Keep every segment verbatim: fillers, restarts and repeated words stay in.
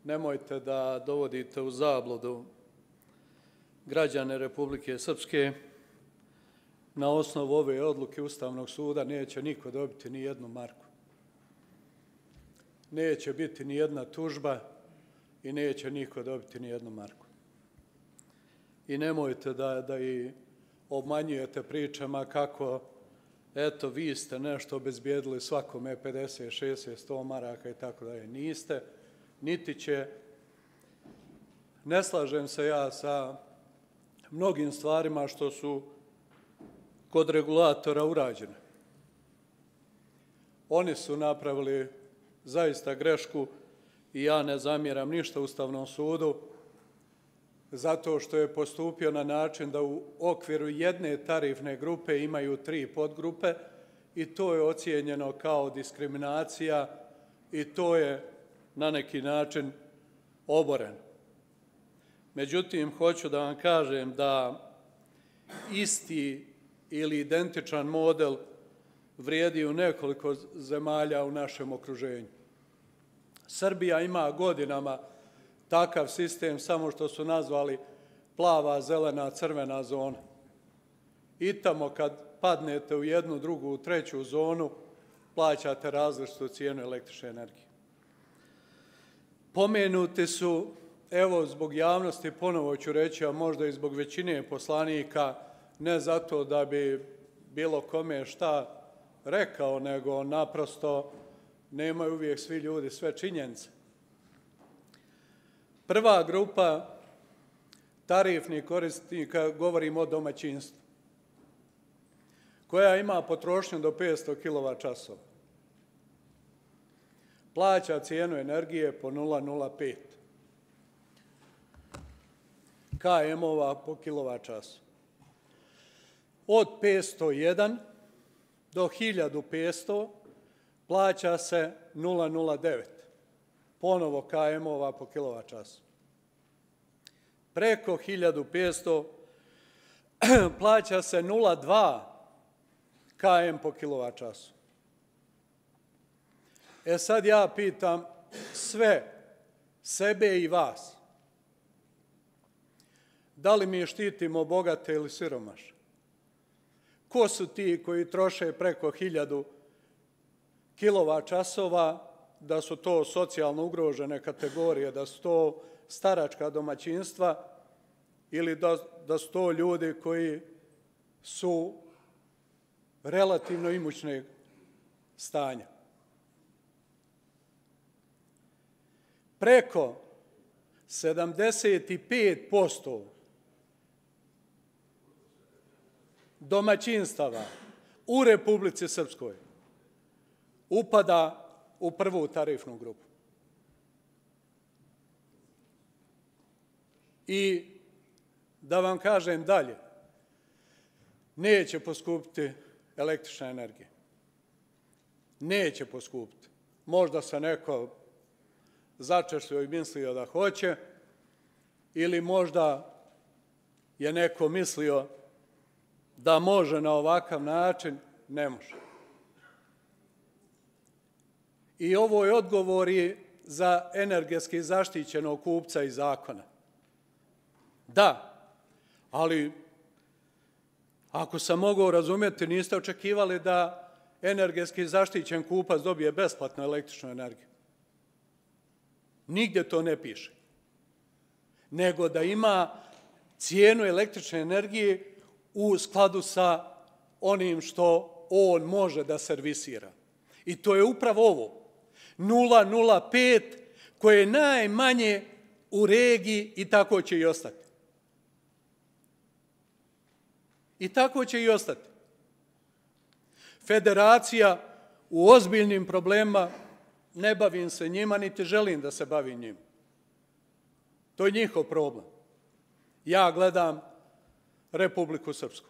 nemojte da dovodite u zabludu građane Republike Srpske. Na osnovu ove odluke Ustavnog suda neće niko dobiti ni jednu marku. Neće biti ni jedna tužba i neće niko dobiti ni jednu marku. I nemojte da, da i obmanjujete pričama kako eto, vi ste nešto obezbijedili svakome pedeset, šezdeset, sto maraka i tako dalje. Niste, niti će. Ne slažem se ja sa mnogim stvarima što su kod regulatora urađene. Oni su napravili zaista grešku i ja ne zamjeram ništa Ustavnom sudu zato što je postupio na način da u okviru jedne tarifne grupe imaju tri podgrupe i to je ocijenjeno kao diskriminacija i to je na neki način oboreno. Međutim, hoću da vam kažem da isti ili identičan model vrijedi u nekoliko zemalja u našem okruženju. Srbija ima godinama takav sistem, samo što su nazvali plava, zelena, crvena zona. I tamo kad padnete u jednu, drugu, treću zonu, plaćate različitu cijenu električne energije. Pomenuti su, evo zbog javnosti ponovo ću reći, a možda i zbog većine poslanika, ne zato da bi bilo kome šta rekao, nego naprosto nemaju uvijek svi ljudi sve činjenice. Prva grupa tarifnih korisnika, govorimo o domaćinstvu, koja ima potrošnju do petsto kilovat časova. Plaća cijenu energije po nula zarez nula pet ka emova po kilovat času. Od petsto jedan do hiljadu petsto plaća se nula zarez nula devet, ponovo ka emova po kilovat času. Preko hiljadu petsto plaća se nula zarez dva ka em po kilovat času. E sad ja pitam sve, sebe i vas, da li mi štitimo bogate ili siromašne? Ko su ti koji troše preko hiljadu kilovat časova, da su to socijalno ugrožene kategorije, da su to staračka domaćinstva ili da, da su to ljudi koji su relativno imućnog stanja? Preko sedamdeset pet posto domaćinstava u Republici Srpskoj upada u prvu tarifnu grupu. I da vam kažem dalje, neće poskupiti električna energija. Neće poskupiti. Možda se neko začešljio i mislio da hoće, ili možda je neko mislio da može na ovakav način, ne može. I ovo je odgovor i za energetski zaštićenog kupca iz zakona. Da, ali ako sam mogao razumjeti, niste očekivali da energetski zaštićen kupac dobije besplatnu električnu energiju. Nigdje to ne piše. Nego da ima cijenu električne energije u skladu sa onim što on može da servisira. I to je upravo ovo. nula zarez nula pet koje je najmanje u regiji i tako će i ostati. I tako će i ostati. Federacija u ozbiljnim problemima, ne bavim se njima, niti želim da se bavim njima. To je njihov problem. Ja gledam Republiku Srpsku.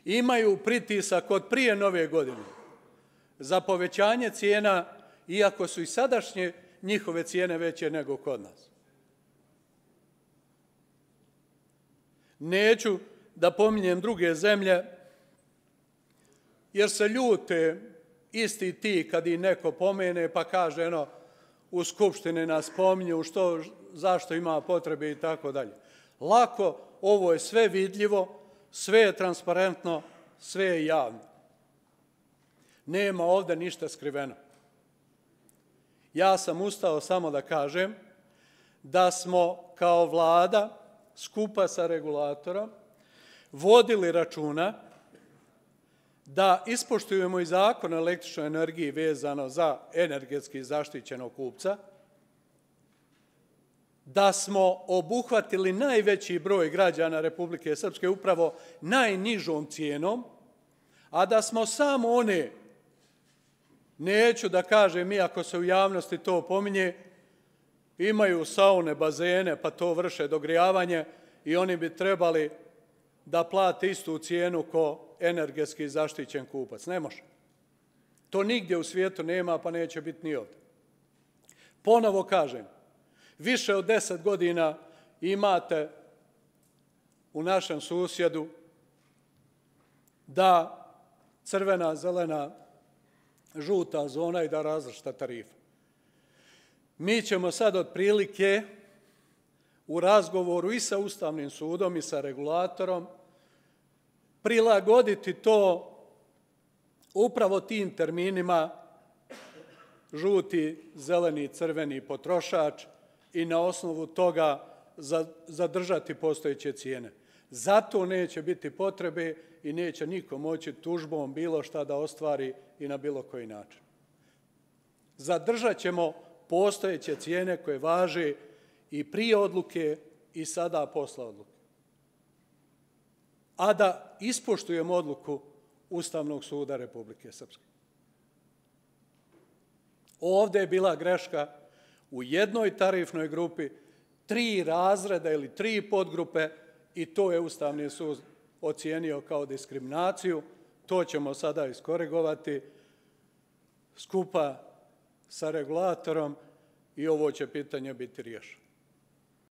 Imaju pritisak od prije nove godine za povećanje cijena, iako su i sadašnje njihove cijene veće nego kod nas. Neću da pominjem druge zemlje, jer se ljute isti ti kad ih neko pomene pa kaže, eno, u Skupštini nas pominju, što, zašto ima potrebe i tako dalje. Lako, ovo je sve vidljivo, sve je transparentno, sve je javno. Nema ovde ništa skriveno. Ja sam ustao samo da kažem da smo kao vlada skupa sa regulatorom vodili računa da ispoštujemo i zakon o električnoj energiji vezano za energetski zaštićenog kupca, da smo obuhvatili najveći broj građana Republike Srpske upravo najnižom cijenom, a da smo samo one, neću da kažem, iako se u javnosti to pominje, imaju saune, bazene, pa to vrše dogrijavanje i oni bi trebali da plate istu cijenu ko energetski zaštićen kupac. Ne može. To nigdje u svijetu nema, pa neće biti ni ovdje. Ponovo kažem, više od deset godina imate u našem susjedu da crvena, zelena, žuta zona i da različita tarifa. Mi ćemo sad otprilike u razgovoru i sa Ustavnim sudom i sa regulatorom prilagoditi to upravo tim terminima žuti, zeleni, crveni potrošač i na osnovu toga zadržati postojeće cijene. Zato neće biti potrebe i neće niko moći tužbom bilo šta da ostvari i na bilo koji način. Zadržat ćemo postojeće cijene koje važe i prije odluke i sada posle odluke. A da ispoštujemo odluku Ustavnog suda Republike Srpske. Ovde je bila greška u jednoj tarifnoj grupi, tri razreda ili tri podgrupe i to je Ustavni sud ocijenio kao diskriminaciju. To ćemo sada iskorigovati skupa sa regulatorom i ovo će pitanje biti riješeno.